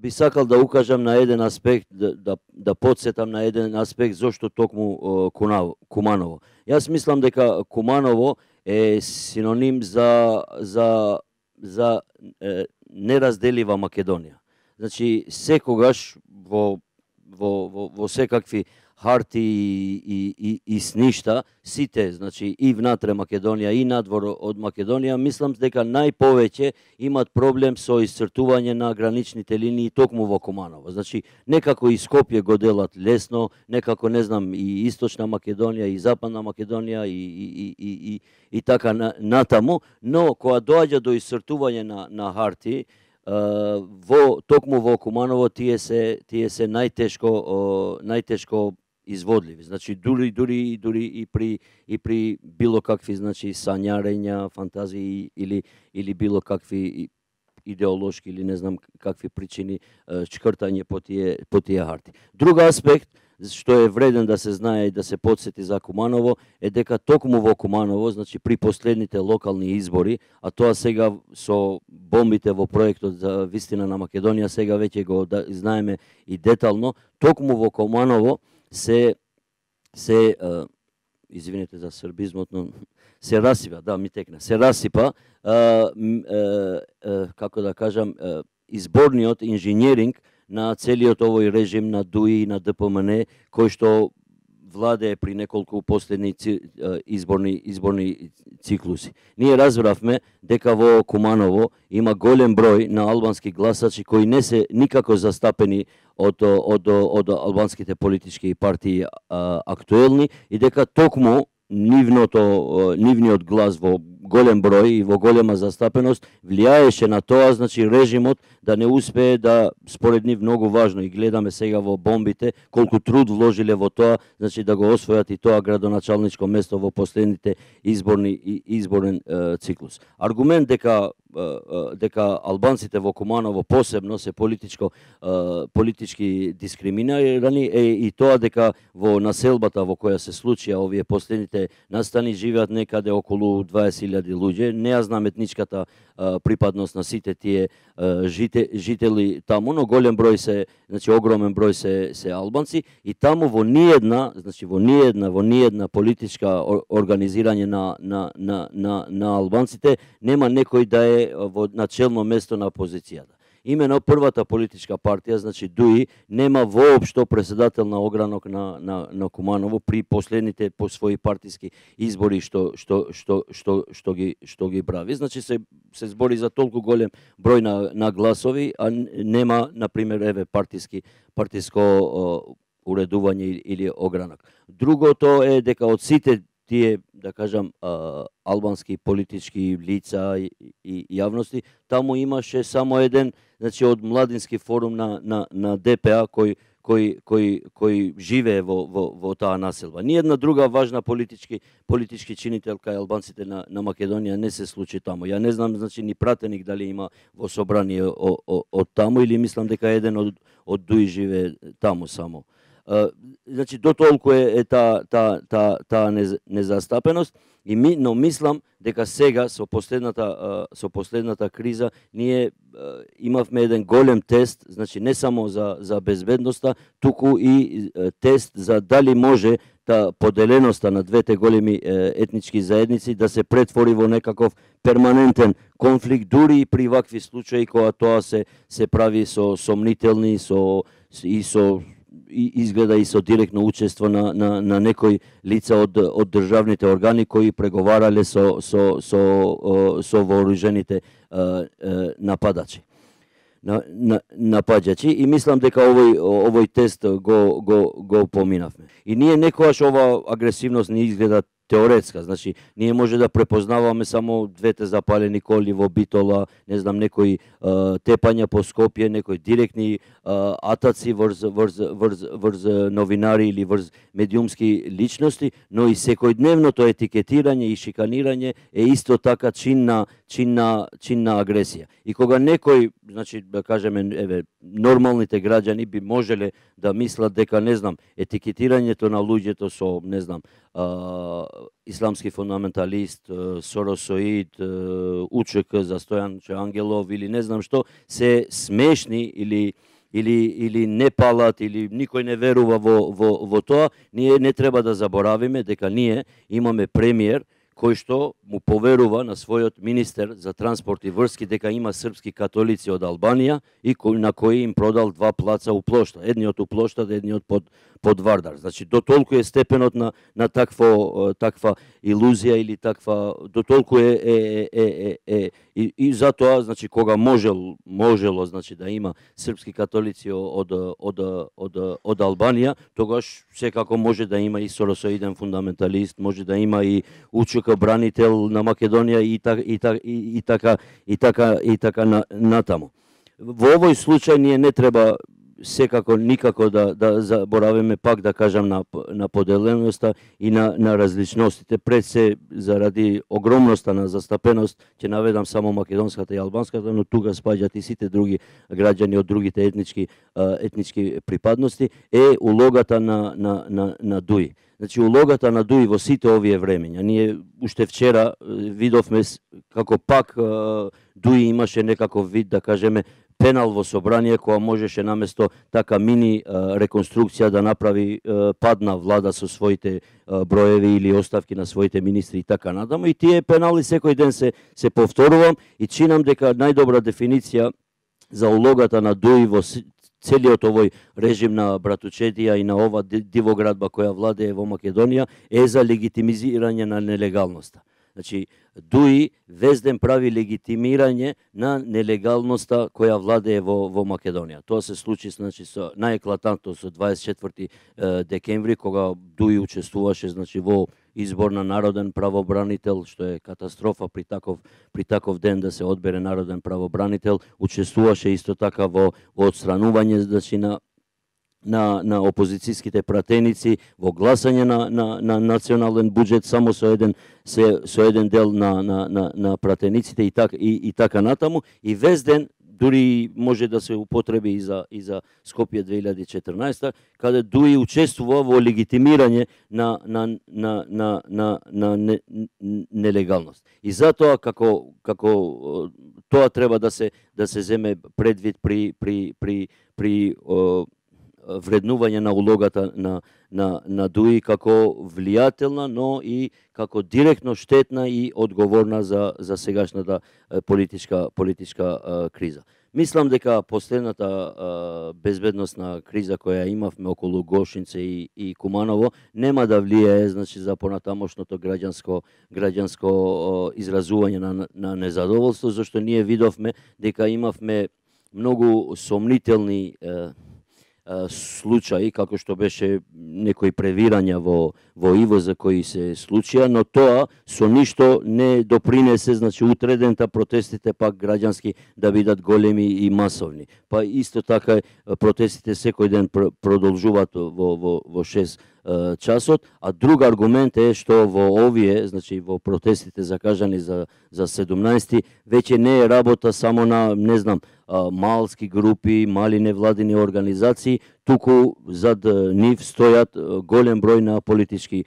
би сакал да укажам на еден аспект, да подсетам на еден аспект зошто токму Куманово. Јас мислам дека Куманово е синоним за неразделива Македонија. Значи, секогаш во секакви харти и сништа, сите, значи, и внатре Македонија и надвор од Македонија, мислам дека најповеќе имат проблем со исцртување на граничните линии токму во Куманово. Значи, некако и Скопје го делат лесно, некако, не знам, и Источна Македонија, и Западна Македонија, и така натаму, но кога доаѓа до исцртување на харти, токму во Куманово тие се најтешко изводливи. Значи, дури и при било какви, значи, сањарења, фантазии или било какви идеолошки или не знам какви причини чкртање по тие харти. Друг аспект што е вреден да се знае и да се подсети за Куманово е дека токму во Куманово, значи при последните локални избори, а тоа сега со бомбите во проектот за вистина на Македонија, сега веќе го знаеме и детално, токму во Куманово извинете за србизмот, но се расипа, да, ми текна, се расипа, како да кажам, изборниот инженеринг на целиот овој режим на ДУИ и на ДПМН, кој што владее при неколку последни изборни циклуси. Ние разбравме дека во Куманово има голем број на албански гласачи кои не се никако застапени од албанските политички партии актуелни и дека токму нивниот глас во голем број и во голема застапеност влијаеше на тоа, значи режимот да не успее да, според нив многу важно, и гледаме сега во бомбите колку труд вложиле во тоа, значи да го освојат и тоа градоначалничко место во последните изборен циклус. Аргумент дека албанците во Куманово посебно се политички дискриминирани е и тоа дека во населбата во која се случија овие последните настани живеат некаде околу 20.000 луѓе. Не ја знам етничката припадност на сите тие жители таму, но голем број се, значи огромен број се албанци и таму во ниедна политичка организирање на албанците нема некој да е во начелно место на опозицијата. Имено првата политичка партија, значи ДУИ, нема воопшто председател на огранок на Куманово при последните по своји партиски избори што ги прави. Значи се збори за толку голем број на гласови, а нема, например, партиско уредување или огранок. Другото е дека од сите тие, да кажам, албански политички лица и јавности, таму имаше само еден, значи од младински форум на ДПА кој живее во таа населба. Ниедна друга важна политички чинител кај албанците на Македонија не се случи таму. Ја не знам, значи, ни пратеник дали има во собрание од таму или мислам дека еден од ДУИ живее таму само. Значи, дотолку е таа незастапеност, но мислам дека сега со последната криза ние имавме еден голем тест, значи не само за безбедноста, туку и тест за дали може поделеноста на двете големи етнички заедници да се претвори во некаков перманентен конфликт, дури и при вакви случаи кога тоа се прави со сомнителни и изгледа и со директно учество на некои лица од државните органи кои преговарале со вооружените нападачи. И мислам дека овој тест го поминавме. И ние некогаш ова агресивност не изгледа теоретска, значи ние може да препознаваме само двете запалени коли во Битола, не знам, некои тепања по Скопје, некои директни атаци врз новинари или врз медиумски личности, но и секојдневното етикетирање и шиканирање е исто така чин на агресија. И кога некој, значи да кажеме, нормалните граѓани би можеле да мислат дека, не знам, етикетирањето на луѓето со, не знам, исламски фундаменталист, соросоид, УЧК за Стојан Ангелов или не знам што, се смешни или или не палат, или никој не верува во тоа, ние не треба да заборавиме дека ние имаме премиер кој што му поверува на својот министер за транспорт и врски дека има српски католици од Албанија и на кои им продал 2 плаца у Плошта, едниот у Плошта, едниот под Вардар. Значи до толку е степенот на таква илузија или таква, до толку и затоа, значи кога можело значи да има српски католици од Албанија, тогаш секако може да има и соросоиден фундаменталист, може да има и УЧК бранител на Македонија и така натаму. Во овој случај ние не треба секако никако да заборавиме, пак да кажам, на поделеноста и на различностите. Пред се заради огромноста на застапеност, ќе наведам само македонската и албанската, но тука спаѓаат и сите други граѓани од другите етнички припадности, е улогата на ДУИ. Значи, улогата на ДУИ во сите овие времења. Ние уште вчера видовме како пак ДУИ имаше некаков вид, да кажеме, пенал во собрание, која можеше наместо така мини реконструкција да направи падна влада со своите броеви или оставки на своите министри и така натаму. И тие пенали секој ден се повторувам и чинам дека најдобра дефиниција за улогата на ДУИ во целиот овој режим на братучедија и на ова дивоградба која владее во Македонија е за легитимизирање на нелегалноста. Значи, ДУИ везден прави легитимирање на нелегалноста која владее во Македонија. Тоа се случи, значи, со наеклатантно со 24 декември, кога ДУИ учествуваше, значи, во избор на народен правобранител, што е катастрофа при таков ден да се одбере народен правобранител. Учествуваше исто така во отстранување, значи, на опозицијските пратеници, во гласање на национален буџет само со еден дел на пратениците и така натаму, и вез ден дури може да се употреби и за Скопје 2014, каде ДУИ учествува во легитимирање на нелегалност. И затоа како тоа треба да се земе предвид при вреднување на улогата на ДУИ како влијателна, но и како директно штетна и одговорна за сегашната политичка криза. Мислам дека последната безбедносна криза која имавме околу Гошинце и Куманово нема да влијае, значи, за понатамошното граѓанско изразување на незадоволство, зашто ние видовме дека имавме многу сомнителни случаи, како што беше некои превирања во ИВО кои се случија, но тоа со ништо не допринесе, значи, утредента протестите пак граѓански да бидат големи и масовни. Па исто така протестите секој ден продолжуваат во 6 часот, а друг аргумент е што во овие, значи во протестите закажани за 17 веќе не е работа само на, не знам, малски групи, мали невладини организации, туку зад нив стојат голем број на политички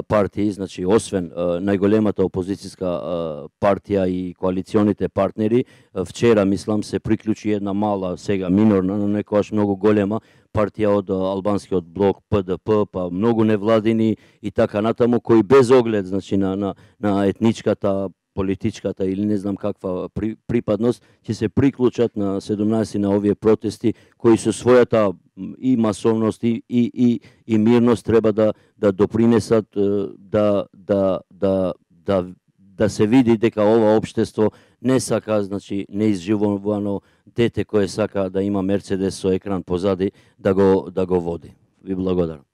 партии, значи освен најголемата опозицијска партија и коалиционите партнери. Вчера, мислам, се приклучи една мала, сега минорна, но некојаш многу голема партија од албанскиот блок ПДП, па многу невладини и така натаму, кои без оглед, значи, на етничката, политичката или не знам каква припадност, ќе се приклучат на 17 на овие протести, кои со својата и масовност и мирност треба да допринесат да се види дека ова општество не сака, значи, неизживувано дете кое сака да има Мерцедес со екран позади да го води. Ви благодарам.